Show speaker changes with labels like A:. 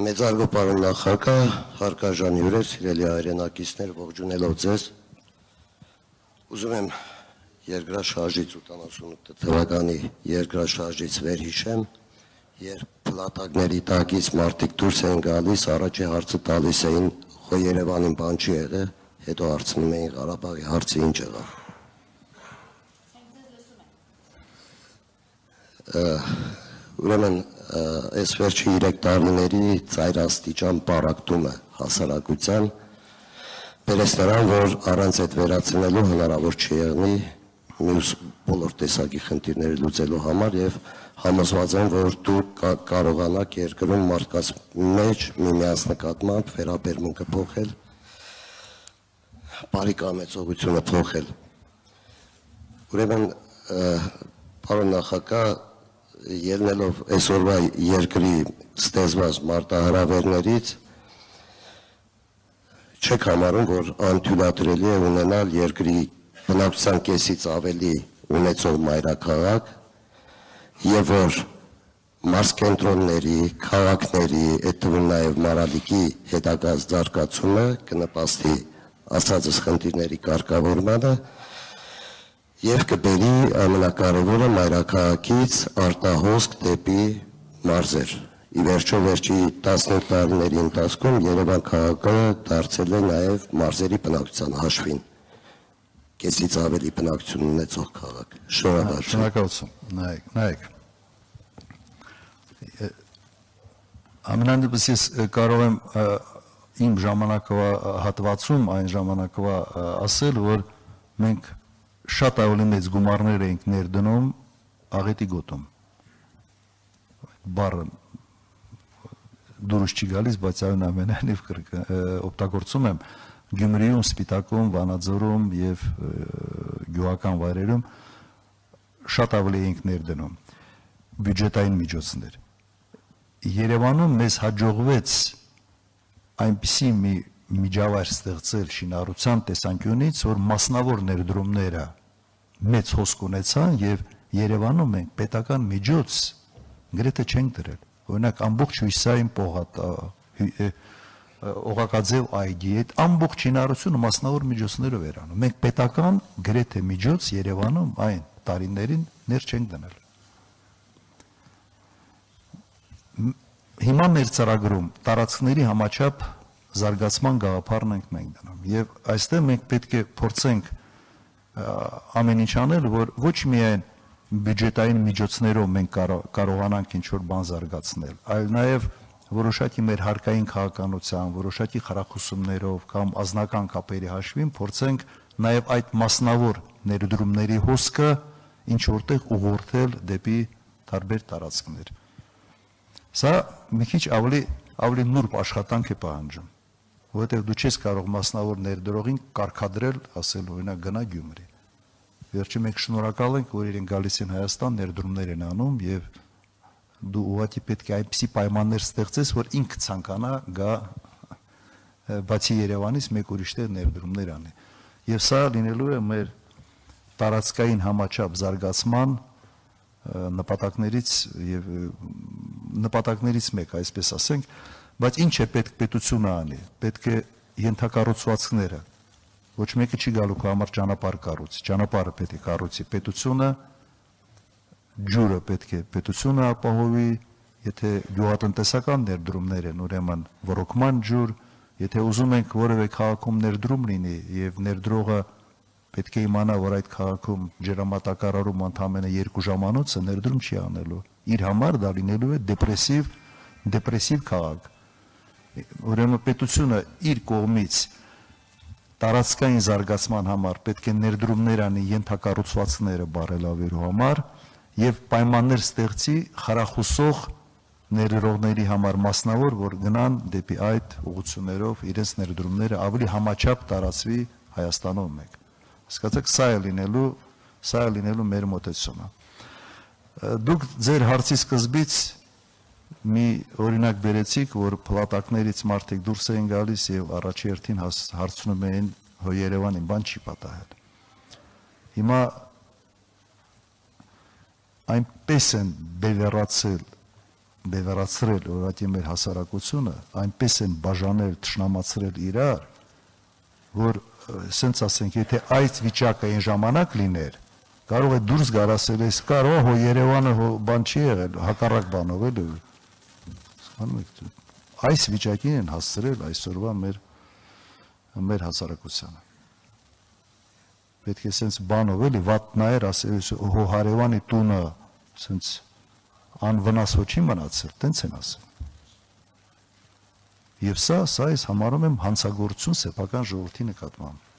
A: Մեծարգո պարոն նախագահ, հարգարժան հյուրեր, սիրելի հայրենակիցներ, ողջունելով ձեզ, ուզում եմ երկրաշարժից 88 թվականի երկրաշարժից վերհիշեմ, երբ փլատակների տակից մարդիկ դուրս էին գալիս, առաջի հարցը տալիս էին, խո Երևանին բան չի եղել, հետո հարցնում էին Ղարաբաղի հարցը ինչ եղավ։ Ուրեմն այս վերջի 3 տարիների ծայրաստիճան պառակտումը հասարակության բերեց նրան, որ առանց այդ վերացնելու հնարավոր չի եղնի մյուս բոլոր տեսակի խնդիրները լուծելու համար եւ համոզված եմ, որ դուք կարողանաք երկրում մարդկանց մեջ միմյանց նկատմամբ վերաբերմունքը փոխել, բարի կամեցողությունը փոխել։ Ուրեմն պարոն նախագահ, ելնելով այսօրվա երկրի ստեզված մարտահրավերներից չեք համարում, որ անթույլատրելի է ունենալ երկրի բնակչության կեսից ավելի ունեցող մայրաքաղաք եւ որ մարզկենտրոնների, քաղաքների, այդ թվում նաեւ Մարալիկի հետագա զարգացումը կնպաստի ասածս խնդիրների կարգավորմանը եւ կբերի ամենակարևորը մայրաքաղաքից արտահոսք դեպի մարզեր։ Ի վերջո վերջի 15 տարիների ընթացքում Երևան քաղաքը դարձել է նաեւ մարզերի բնակչության հաշվին կեսից ավելի բնակչություն ունեցող քաղաք։
B: Շնորհակալություն։ Նայեք։ Ամենանդեպս ես կարող եմ իմ ժամանակվա հատվածում այն ժամանակվա ասել, որ մենք շատ ավելի մեծ գումարներ էինք ներդնում աղետի գոտում։ Բառը դուրս չի գալիս, բայց այն ամենայնիվ օգտագործում եմ Գյումրիում, Սպիտակում, Վանաձորում եւ գյուղական վայրերում շատ ավելի էինք ներդնում բյուջետային միջոցներ։ Երևանում մեզ հաջողվեց այնպիսի մի միջավայր ստեղծել շինարարության տեսանկյունից, որ մասնավոր ներդրումները մեծ հոսք ունեցան եւ Երևանում մենք պետական միջոց գրեթե չենք դրել։ Օրինակ ամբողջ Հյուսիսային Օղակաձև այգի այդ ամբողջ շինարարությունը մասնավոր միջոցներով էր անում։ Մենք պետական գրեթե միջոց Երևանում այն տարիներին ներ չենք դնել։ Հիմա մեր ծրագրում տարածքների համաչափ զարգացման գաղափարն ենք մենք դնում եւ այստեղ մենք պետք է փորձենք ամեն ինչ անել, որ ոչ միայն բյուջետային միջոցներով մենք կարողանանք ինչ-որ բան զարգացնել, այլ նաեւ որոշակի մեր հարկային քաղաքականության, որոշակի խրախուսումներով կամ ազնական կապերի հաշվին փորձենք նաեւ այդ մասնավոր ներդրումների հոսքը ինչ որտեղ ուղղորդել դեպի տարբեր տարածքներ։ Սա մի քիչ ավելի նուրբ աշխատանք է պահանջում, որովհետև դու չես կարող մասնավոր ներդրողին կարգադրել, ասել օրինակ գնա Գյումրի։ Վերջի մենք շնորհակալ ենք, որ իրեն գալիս են Հայաստան, ներդրումներ են անում եւ դու ուղղակի պետք է այնպիսի պայմաններ ստեղծես, որ ինքը ցանկանա գա բացի Երևանից մեկ ուրիշ տեղ ներդրումներ անի։ Եվ սա լինելու է մեր տարածքային համաչափ զարգացման նպատակներից մեկ, այսպես ասենք, բայց ինչ է պետք պետությունը անի, պետք է ենթակառուցվածքները, ոչ մեկը չի գալու քո համար ճանապարհ կառուցի, ճանապարհը պետք է կառուցի պետությունը, ջուրը պետք է պետությունը ապահովի, եթե գյուղատնտեսական ներդրումներ են, ուրեմն ռոռոկման ջուր, եթե ուզում ենք որևէ քաղաքում ներդրում լինի եւ ներդրողը պետք է իմանա, որ այդ քաղաքում ջրամատակարարում ընդամենը 2 ժամանոց է ներդրում չի անելու։ Իր համար դա լինելու է դեպրեսիվ քաղաք։ Ուրեմն պետությունը իր կողմից տարածքային զարգացման համար պետք է ներդրումներ անի ենթակառուցվածքները բարելավելու համար եւ պայմաններ ստեղծի խրախուսող ներդրողների համար մասնավոր, որ գնան դեպի այդ ուղղություններով իրենց ներդրումները ավելի համաչափ տարածվի Հայաստանում մեկ։ Հասկացաք, սա է լինելու մեր մոտեցումը։ Դուք ձեր հարցի սկզբից մի օրինակ բերեցիք, որ փլատակներից մարդիկ դուրս էին գալիս եւ առաջի հերթին հարցնում էին հո Երևանին բան չի պատահել։ Հիմա այնպես են բևեռացել բևեռացրել օրատի մեր հասարակությունը, այնպես են բաժանել, թշնամացրել իրար, որ սենց ասենք, եթե այդ վիճակը այն ժամանակ լիներ, կարող է դուրս գար ասել, ես կարող հո Երևանը հո բան չի եղել, հակառակ բանով էլ այս վիճակին են հասցրել այսօրվա մեր հասարակությանը։ Պետք է սենց բանով էլի վատ նայեր ասել, հո հարևանի տունը սենց անվնաս հո չի մնացել, տենց են ասել։ Եվ սա ես համարում եմ հանցագործություն սեփական ժողովրդի նկատմամբ։